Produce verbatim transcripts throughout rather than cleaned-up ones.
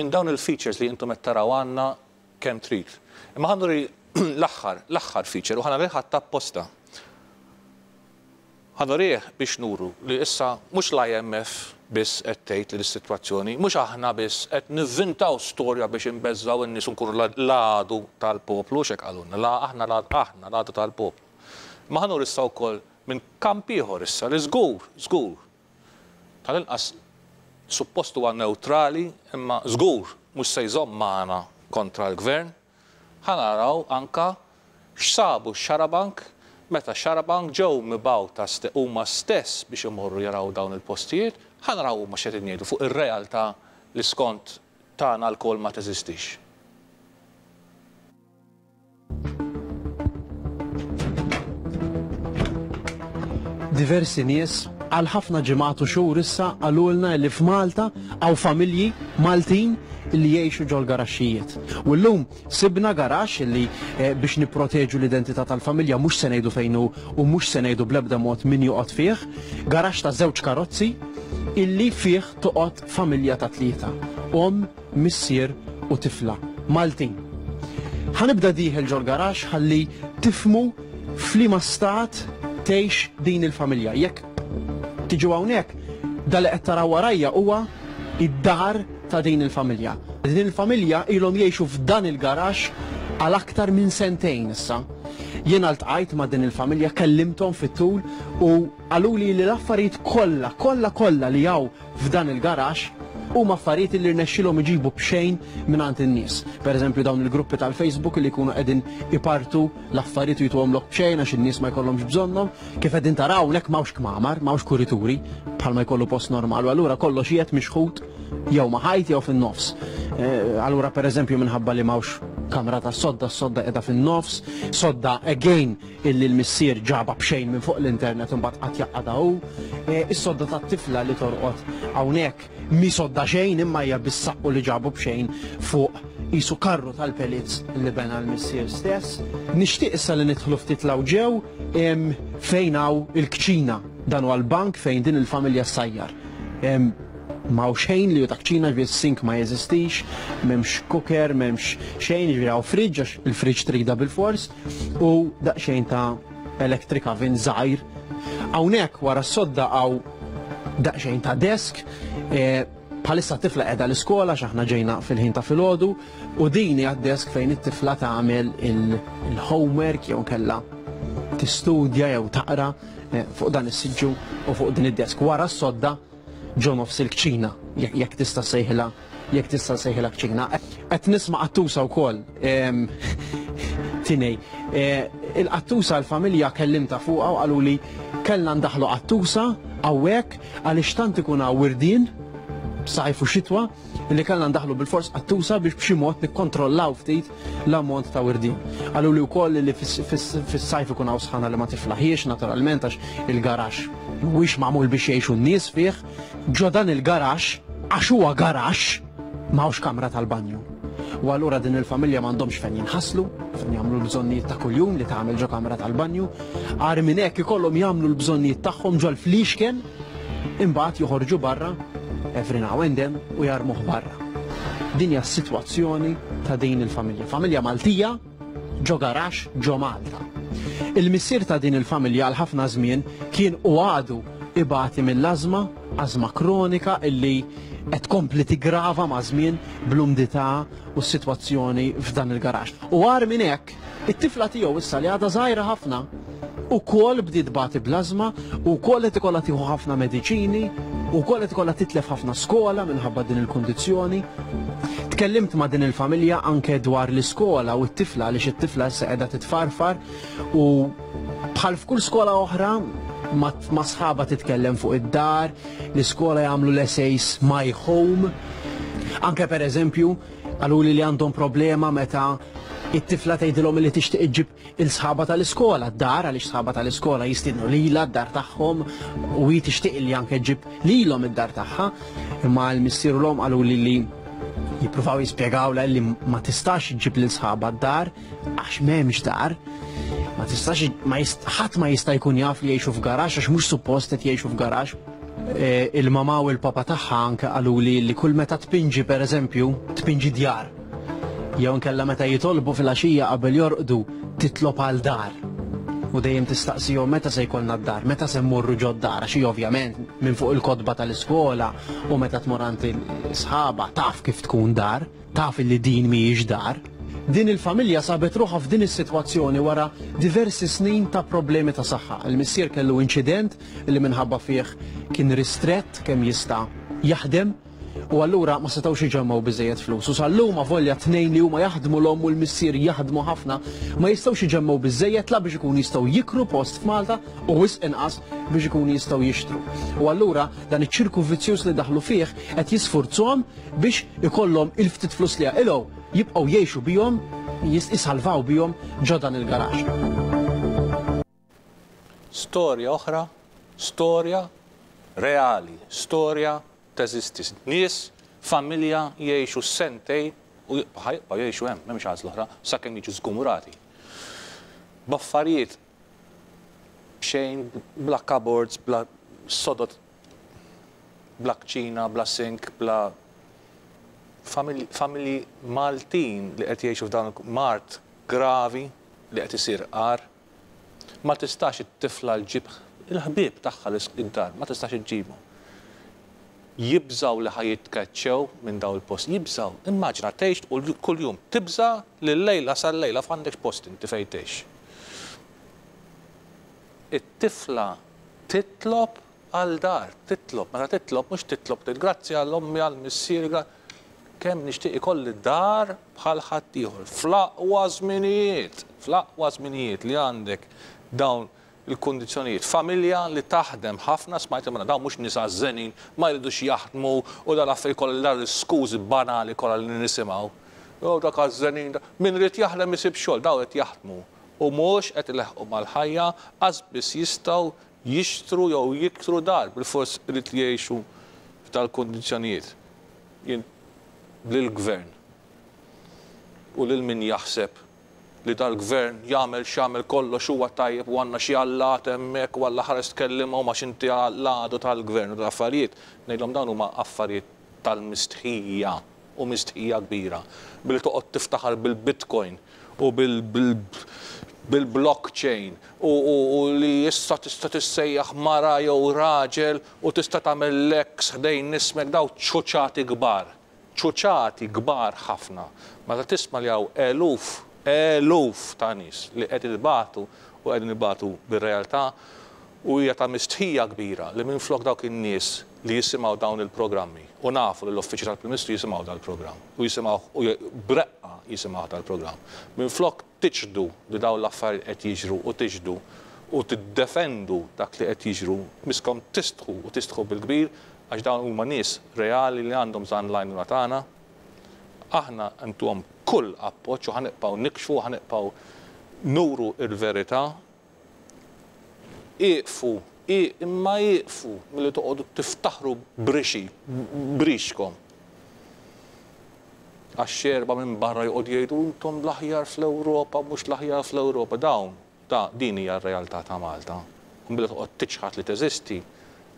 Minn dawn il-features li intom qed taraw għandna kemm trid. Imma ħa nuri l-aħħar, l-aħħar feature u ħa nurih apposta. Ħa nurih biex nuru li issa mhux l-I M F biss qed tgħid li l-sitwazzjoni, mhux aħna biss qed nivvintaw storja biex inbeżżaw in-nies nkunu l-għadu tal-poplu, xek qalulna, la aħna aħna l-għadu tal-poplu. Ma ħa nuri issa wkoll minn kamp ieħor issa li żgur, żgur, tal-inqas suppost huwa neutrali, imma żgur mhux se jżomm magħna kontra l-gvern. Ħa naraw anka x'sabu Xarabank meta Xarabank ġew mibgħuta huma stess biex imorru jaraw dawn il-postijiet, ħa naraw huma x'qed jgħidu fuq ir-realtà li skont tagħna lkoll ma teżistix. Diversi nies għal ħafna ġimgħat u xhur issa qalulna li f'Malta hawn familji Maltin li jgħixu ġol garaxxijiet. U llum sibna garaxx li eh, biex nipproteġu l-identità tal-familja mhux se ngħidu fejn hu u mhux se ngħidu bl-ebda mod min joqgħod fih, garaxx ta' żewġ karozzi illi fih toqgħod familja ta' tlieta. Om, missier u tifla. Maltin. Ħa nibda dieħel ġol garaxx ħalli tifhmu f'liema stat tgħix din il-familja. Jekk tiġu hawnhekk, dak li qed taraw warajja huwa id-dar ta' din il-familja. Din il-familja ilhom jgħixu f'dan il-garaxx għal aktar minn sentejn issa. Jiena ltqajt ma' din il-familja, kellimthom fit-tul u qaluli li l-affarijiet kollha, kollha kollha li hawn f'dan il-garaxx huma affarijiet li rnexxilhom iġibu b'xejn mingħand in-nies. Pereżempju, dawn il-gruppi tal-Facebook li jkunu qegħdin ipartu l-affarijiet u jtuhomlok b'xejn għax in-nies ma jkollhomx bżonnhom. Kif qegħdin taraw hawnhekk m'hawnx kmamar, m'hawnx kurituri bħalma jkollu post normal, u allura kollox qiegħed mixħut jew ma' ħajt jew fin-nofs. Eh, allura pereżempju, minħabba li m'hawnx kamra ta' sodda, s-sodda qiegħda fin-nofs, sodda again illi l-missier ġaba b'xejn minn fuq l-internet u mbagħad qatt jaqgħadha hu. Eh, Is-sodda tat-tifla li torqod hawnhekk mi sodda xejn, imma hija bis-saqqu li ġabu b'xejn fuq qisu karru tal-pellets li bena l-missier stess. Nixtieq issa li nidħlu ftit 'l ġew em, fejn hawn il-kċina. Dan huwa l-bank fejn din il-familja ssajjar. Em, M'hawn xejn li hu ta' kċina, ġifieri sink ma jeżistix, m'hemmx cooker, m'hemmx xejn, ġifieri hawn fridge, għax il-fridge trida bil-fors, u daqsxejn ta' electric oven żgħir. Hawnhekk wara s-sodda hawn daqsxejn ta' desk, eh, bħalissa t-tifla qiegħda l-iskola x'aħna ġejna fil-ħin ta' filgħodu, u din hija desk fejn it-tifla tagħmel il-homework jew kella tistudja jew taqra eh, fuq dan is-siġġu u fuq din id-desk. Wara s-sodda ġo nofs il-kċina, jekk jekk tista' sejħilha jekk tista' sejħilha kċina. Qed nisma' qattusa wkoll. em, Tinej, eh, il-qattusa l-familja kellimta fuqha u qalu li kellna ndaħlu qattusa hawnhekk għaliex tant ikun hawn wirdien sajf u xitwa li kellna ndaħlu bil-fors qattusa biex b'xi mod nikkontrollaw ftit l-ammont ta' wirdien. Qalu li wkoll li fis- fis- fis-sajf ikun hawn sħana li ma tiflaħiex naturalment, għax il-garaxx mhuwiex magħmul biex jgħixu n-nies fih. Ġo dan il-garaxx, għax huwa garaxx, m'hawnx kamra tal-banju. U allura din il-familja m'għandhomx fejn jinħaslu, fejn jagħmlu l-bżonnijiet ta' kuljum li tagħmel ġo kamra tal-banju. Agħar minn hekk, ikollhom jagħmlu l-bżonnijiet tagħhom ġol flixken, imbagħad joħorġu barra every now and then u jarmuh barra. Din hija s-sitwazzjoni ta' din il-familja. Familja Maltija ġo garaxx ġo Malta. Il-missier ta' din il-familja għal ħafna żmien kien u għadu ibati mill-ażma, ażma kronika illi qed tkompli tigrava ma' żmien bl-umdità u s-sitwazzjoni f'dan il-garaxx. U agħar minn hekk, it-tifla tiegħu issa li għadha żgħira ħafna ukoll bdiet tbati bl-ażma u wkoll qed ikollha tieħu ħafna mediċini u wkoll qed ikollha titlef ħafna skola minħabba din il-kundizzjoni. Tkellimt ma' din il-familja anke dwar l-iskola u t-tifla, għaliex it-tifla issa qiegħda titfarfar u bħal f'kull skola oħra ma, ma sħaba titkellem fuq id-dar, l-iskola jagħmlu l-essays "my home". Anke per eżempju, qaluli li għandhom problema meta it-tifla tgħidilhom li tixtieq iġġib il-sħaba tal-iskola d-dar, għaliex sħaba tal-iskola jistiednu lilha d-dar tagħhom u hi tixtieq li anke ġġib lilhom id-dar tagħha. Imma l-missier u l-omm qalu li li jippruvaw jispjegawlha li ma tistax iġġib lil sħaba d-dar għax m'hemmx dar. Ma tistax, ma jist, ħadd ma jista' jkun jaf li jgħixu f'garaxx għax mhux suppost qed jgħixu f'garaxx. Il-mama u l-papa tagħha anke qaluli li kull meta tpinġi, pereżempju, tpinġi djar, jew inkella meta jitolbu fil-għaxija qabel jorqdu, titlob għal dar. U dejjem tistaqsihom meta se jkollna d-dar, meta se mmorru ġod-dar, għax hi ovvjament minn fuq il-kotba tal-iskola u meta tmur għand sħaba taf kif tkun dar, taf li din mhijiex dar. Din il-familja sabet ruħha f'din is-sitwazzjoni wara diversi snin ta' problemi ta' saħħa. Il-missier kellu inċident li minħabba fih kien ristrett kemm jista' jaħdem u allura ma setgħux iġemmgħu biżejjed flus. U sal-lum, avolja tnejn li huma jaħdmu, l-omm u l-missier jaħdmu ħafna, ma jistgħux iġemmgħu biżejjed la biex ikun jistgħu jikru post f'Malta u wisq inqas biex ikun jistgħu jixtru. U allura dan iċ-ċirku vizzjuż li daħlu fih qed jisfurzhom biex ikollhom il-ftit flus li jaqilgħu jibqgħu jgħixu bihom, jisalvaw bihom ġo dan il-garaxx. Storja oħra, storja reali, storja teżisti. Nies, familja jgħixu sentejn u ħa jibqgħu jgħixu hemm, m'hemmx għażla oħra, sakemm jiġu żgumrati. B'affarijiet xejn, bla cupboards, bla sodod, bla kċina, bla sink, bla familji Maltin li qed jgħixu f'dan mard gravi li qed isir qar. Ma tistax it-tifla ġġib il-ħbieb tagħha id-dar, ma tistax iġġibu. Jibżaw li ħa jitkeċċew minn daw il-post, jibżaw. Immaġina tgħix u kuljum tibża li l-lejla sal-lejla f'għandek post inti fejn tgħix. It-tifla titlob għal dar, titlob, meta titlob mhux titlob grazzi għal ommi, għal missieri, kemm nixtieq ikolli dar bħal ħaddieħor. Fl-aqwa żminijiet, fl-aqwa żminijiet li għandek dawn il-kundizzjonijiet. Familja li taħdem ħafna, smajt imma dawn mhux nisa żenin, ma jridux jaħdmu u dal affarijiet kollha, dar l-iskużi banali kollha li nisimgħu. Jew dak għaż-żenin, min irid jaħdem isib xogħol, dawn qed jaħdmu u mhux qed ileħqu mal-ħajja, biss jistgħu jixtru jew jiktru dar, bil-fors irid jgħixu f'dal-kundizzjonijiet. Jien lill-gvern u lil min jaħseb li dal-gvern jagħmel x'jagħmel kollox huwa tajjeb u għandna xi allat hemmhekk u Alla ħares tkellimhom għax inti l-għadu tal-gvern u l-affarijiet, ngħidlhom dawn huma affarijiet tal-mistħija u mistħija kbira. Billi toqgħod tiftaħar bil-Bitcoin u bil-blockchain u li issa tista' tissejjaħ mara jew raġel u tista' tagħmel l-ex ħdejn ismek, daw ċuċati kbar. Ċuċati kbar ħafna. Meta tisma' li hawn eluf, eluf ta' nies li qed ibatu u qegħdin ibatu bir-realtà, u hija ta' mistħija kbira li minflok dawk in-nies li jisimgħu dawn il-programmi, u nafu li l-Uffiċċju tal-Prim Ministru jisimgħu dal-programm u jisimgħu u breqqa jisimgħu dal-programm. Minflok tiċħdu li dawn l-affarijiet qed jiġru u tiċħdu u tiddefendu dak li qed jiġru, miskom tistħu u tistħu bil-kbir, għax dawn huma nies reali li għandhom bżonn l-għajnuna tagħna. Aħna ntuhom kull appoġġ u ħa nibqgħu nikxfu, ħa nibqgħu nuru il-verità. Iqfu, imma iqfu milli toqgħodu tiftaħru brixi, brixkom. Għax xerba minn barra joqgħod jgħidu intom l-aħjar fl-Ewropa, mhux l-aħjar fl-Ewropa. Dawn, da din hija r-realtà ta' Malta. U billi toqgħod tiċħad li teżisti,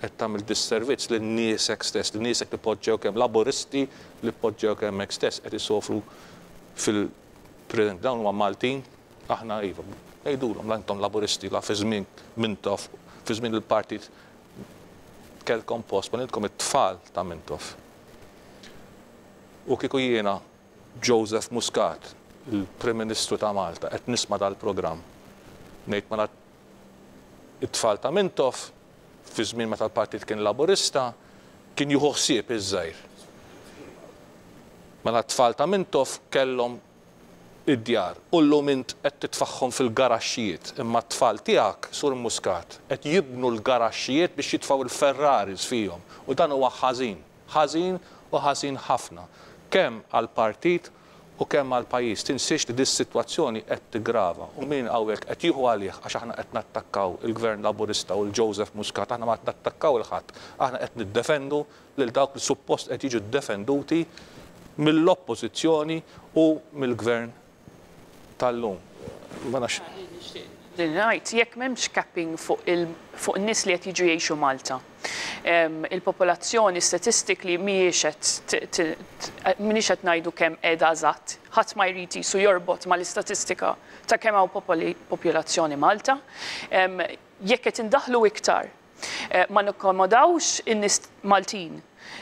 qed tagħmel disservizz lil niesek stess, lil niesek li poġġew kemm Laburisti li poġġew kemm hekk stess qed isofru fil-preżent. Dawn huma Maltin, aħna iva, ngħidulhom la intom Laburisti la fi żmien Mintoff, fi żmien il-partit kellkom post, ma lilkom it-tfal ta' Mintoff. U kieku jiena Joseph Muscat, il-Prim Ministru ta' Malta, qed nisma' dal-programm, ngħid mela it-tfal ta' Mintoff fi żmien meta l-partit kien Laburista, kien jieħu ħsieb iż-żgħir. Mela t-tfal ta' Mintoff kellhom id-djar u llum int qed titfaħħom fil-garaxxijiet, imma t-tfal tiegħek, Sur Muscat, qed jibnu l-garaxxijiet biex jitfgħu l-Ferraris fihom. U dan huwa ħażin, ħażin u ħażin ħafna. Kemm għall-partit u kemm għall-pajjiż. Tinsiex li dis-sitwazzjoni qed tigrava u min hawnhekk qed jieħu għalih għax aħna qed nattakkaw il-Gvern Laburista u l-Joseph Muscat, aħna ma qed nattakkaw il-ħadd, aħna qed niddefendu lil dawk li suppost qed jiġu ddefenduti mill-oppożizzjoni u mill-gvern tal-lum. Ma nafx. Ngħid, jekk m'hemmx capping fuq il-, fuq in-nies li qed jiġu jgħixu Malta, Il-popolazzjoni statistically mhijiex qed m'iniex qed ngħidu kemm qiegħda eżatt. Ħadd ma jrid jisu jorbot mal-istatistika ta' kemm hawn popolazzjoni Malta. Jekk qed indaħlu iktar, eh, ma nikkomodawx in-nies Maltin.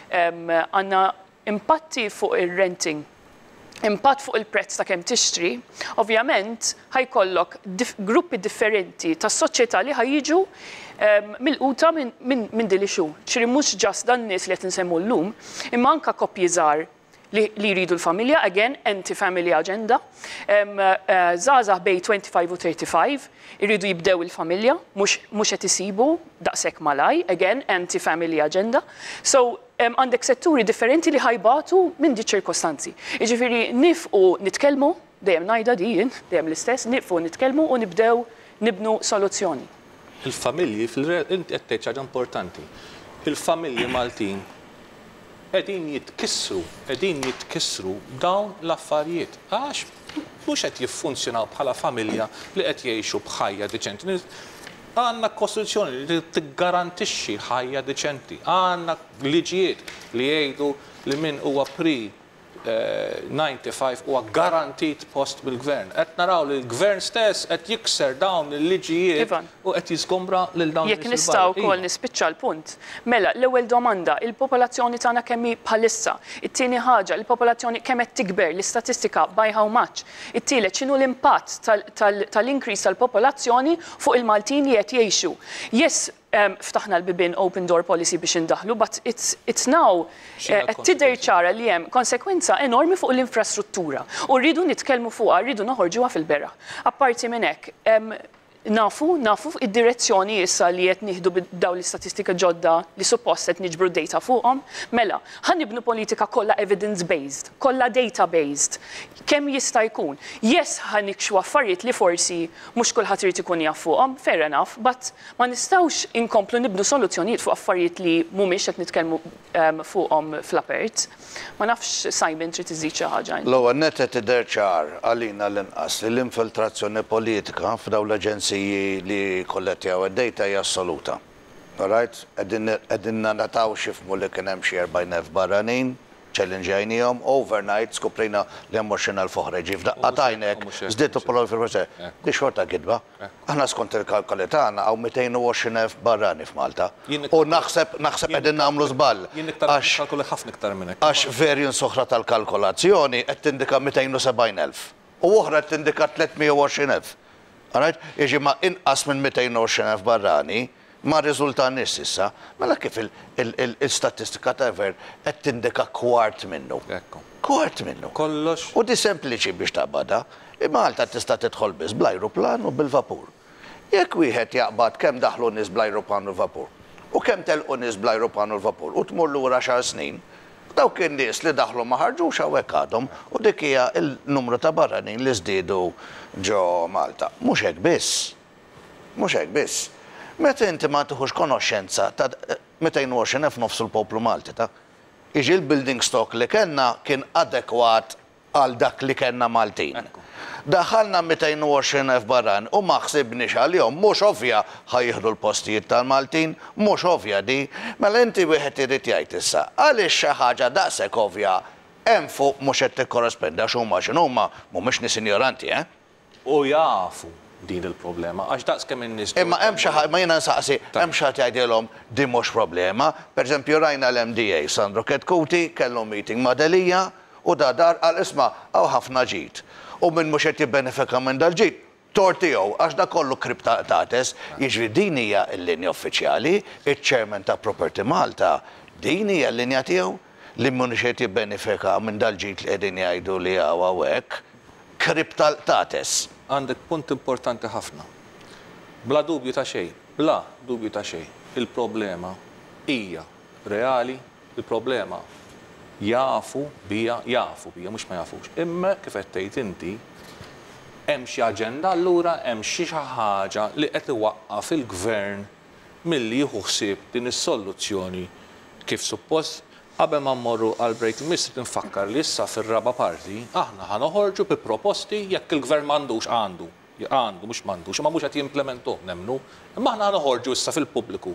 Għandna impatti fuq ir-renting, impatt fuq il-prezz ta' kemm tixtri, ovvjament ħa jkollok dif gruppi differenti ta' soċjetà li ħa jiġu um, milquta minn min, min din l-issue. Ġifieri mhux just dan nies li qed nsemmu llum, imma anka koppji żgħar li, li jridu l-familja, again, anti-family agenda. Um, uh, Żgħażagħ bejn twenty-five u thirty-five, irridu jibdew il-familja, mhux qed isibu daqshekk malaj, again, anti-family agenda. So, għandek setturi differenti li ħa jbatu minn di ċirkostanzi. Jiġifieri nieqfu nitkellmu, dejjem ngħidha din, dejjem l-istess, nieqfu nitkellmu u nibdew nibnu soluzzjoni. Il-familji, inti qed tgħid ħaġa importanti. Il-familji Maltin qegħdin jitkissru, qegħdin jitkissru dawn l-affarijiet. Għax mhux qed jiffunzjonaw bħala familja li qed jgħixu b'ħajja diċenti. Għandna kostituzzjoni li tiggarantixxi ħajja diċenti. Għandna liġijiet li jgħidu li min huwa pre disgħa u disgħin huwa garantit post bil-gvern. Qed naraw li l-gvern stess qed jikser dawn il-liġijiet u qed jiżgombra lil dawn. Jekk nistgħu wkoll nispiċċa l-punt. Mela, l-ewwel domanda, il-popolazzjoni tagħna kemm hi bħalissa. It-tieni ħaġa, il-popolazzjoni kemm qed tikber, l-istatistika by how much. It-tielet, x'inhu l-impatt tal-increase tal-popolazzjoni fuq il-Maltin li qed jgħixu. Yes, um, ftaħna l-bibin, open door policy biex indaħlu, but it's, it's now qed eh, tidher ċara li hemm konsekwenza enormi fuq l-infrastruttura. U rridu nitkellmu fuqha, rridu noħorġuha fil-beraħ. Apparti minn hekk, um, nafu, nafu id-direzzjoni issa li qed nieħdu daw l-istatistika ġodda li suppost qed niġbru data fuqhom. Mela, ħa nibnu politika kollha evidence-based, kollha data-based. Kemm jista' jkun? Yes, ħa nikxfu affarijiet li forsi mhux kulħadd irid ikun jaf fuqhom, fair enough, but ma nistgħux inkomplu nibnu soluzzjonijiet fuq affarijiet li mhumiex qed nitkellmu um, fuqhom fl-apert. Ma nafx, Simon, trid iżid xi ħaġa. L-ewwel nett, qed tidher ċar għalina l-inqas li l-infiltrazzjoni politika f'dawn l-aġenziji li kollettjaw id-data hija assoluta. Alright? Qegħdin nataw xifmu li kien hemm xi erbgħin elf barranin, challenge overnight skoprejna li hemm għoxrin elf oħra, ġi f'daqqa t'għajnek, żdietu polo fil. Di xorta gidba. Aħna skont il-kalkoli tagħna hawn mitejn u għoxrin elf barrani f'Malta. U naħseb naħseb qegħdin nagħmlu żball. Jien iktar kalkoli ħafna iktar minn hekk. Għax variance oħra tal-kalkolazzjoni qed tindika mitejn u sebgħin elf. U oħra qed tindika tliet mija u għoxrin elf. Alright? Iġi ma inqas minn mitejn u għoxrin elf barrani ma riżultaniex s'issa, mela kif il-statistika ta' ver qed tindika kwart minnu? Kwart minnu. Kollox. U di sempliċi biex taqbada, Malta tista' tidħol biss bl-ajruplan u bil-vapur. Jekk wieħed jaqbad kemm daħlu nies bl-ajruplan u l-vapur u kemm telqu nies bl-ajruplan u l-vapur u tmur lura xar snin, dawk in-nies li daħlu ma ħarġux, hawnhekk għadhom, u dik hija il-numru ta' barranin li żdiedu ġo Malta. Mhux hekk biss. Mhux hekk biss. Meta inti ma tieħux konoxxenza ta' mitejn u għoxrin elf, nofs il-poplu Malti ta' iġi l-building stock li kellna kien adekwat għal dak li kellna Maltin. Daħalna mitejn u għoxrin elf barran u ma ħsibniex għalihom, mhux ovvja ħa jieħdu l-postijiet tal-Maltin, mhux ovvja di, mela inti wieħed irid jgħid issa, għaliex xi ħaġa daqshekk ovvja hemm fuq mhux qed tikkorrespendi, għax huma x'inhuma mhumiex nies ignoranti, eh? U jafu din il-problema, għax daqs kemm in-nies. Imma hemm xi ħadd, ma jiena nsaqsi, hemm xi ħadd jgħidilhom di mhux problema. Pereżempju rajna l-M D A Sandro Chetcuti kellu meeting ma' Delia u da dar qal, "Isma', hawn ħafna ġid. U min mhux qed jibbenefika minn dal-ġid, tort tiegħu għax da kollu krib qtates." Jiġri din hija l-linja uffiċjali, iċ-chairman ta' Property Malta, din hija l-linja tiegħu li mhux qed jibbenefika minn dal-ġid li qegħdin jgħidu li hawn hawnhekk krib tal-qtates. Għandek punt importanti ħafna. Bla dubju ta' xejn, bla dubju ta' xejn, il-problema hija reali, il-problema jafu bija, jafu bija, mhux ma jafux. Imma kif qed tgħid inti, hemm xi aġenda allura, hemm xi ħaġa li qed iwaqqaf il-gvern milli jieħu ħsieb din is-soluzzjoni kif suppost. Qabel ma mmorru għal break, miss nfakkar li issa fir-raba parti aħna ħa noħorġu bi proposti jekk il-gvern m'għandux, għandu, għandu, mhux m'għandux, imma mhux qed jimplementuh nemmnu, imma aħna ħa noħorġu issa fil-pubbliku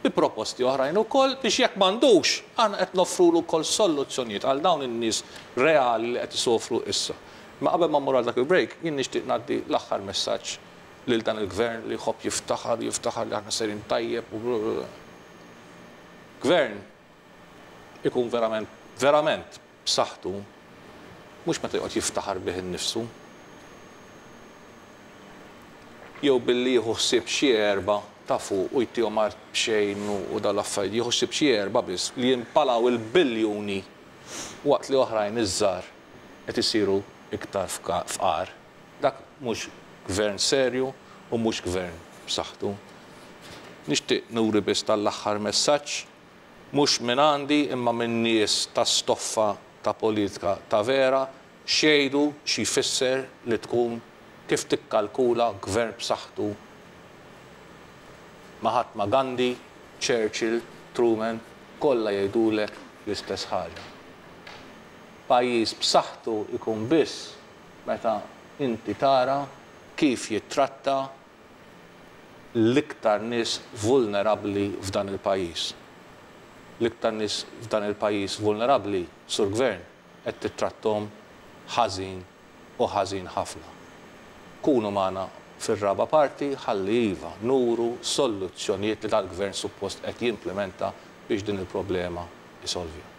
bi bi proposti oħrajn ukoll biex jekk m'għandux, aħna qed noffrulu wkoll soluzzjonijiet għal dawn in-nies reali li qed isofru issa. Ma qabel ma mmur għal dak il-break, jien nixtieq ngħaddi l-aħħar messaġġ lil dan il-gvern li jħobb jiftaħar, jiftaħar li aħna serin tajjeb u gvern ikun verament, verament b'saħħtu mhux meta joqgħod jiftaħar bih innifsu. Jew billi jieħu ħsieb xi erba' ta' fuq u jtihom art b'xejn u dal-affarijiet, jieħu ħsieb xi erba' biss li jimpalaw il-biljuni waqt li oħrajn iż-żgħar qed isiru iktar fqar. Dak mhux gvern serju u mhux gvern b'saħħtu. Nixtieq nuri biss tal-aħħar messaġġ, mhux minn għandi imma minn nies ta' stoffa ta' politika ta' vera, xejdu xi jfisser li tkun kif tikkalkula gvern b'saħħtu. Mahatma Gandhi, Churchill, Truman, kollha jgħidulek l-istess ħaġa. Pajjiż b'saħħtu ikun biss meta inti tara kif jittratta l-iktar nies vulnerabbli f'dan il-pajjiż. L-iktar nies f'dan il-pajjiż vulnerabbli, sur gvern, qed tittrattom ħażin u ħażin ħafna. Kunu magħna fir-raba' parti ħalli iva nuru soluzzjonijiet li dal-gvern suppost qed jimplementa biex din il-problema isolvija.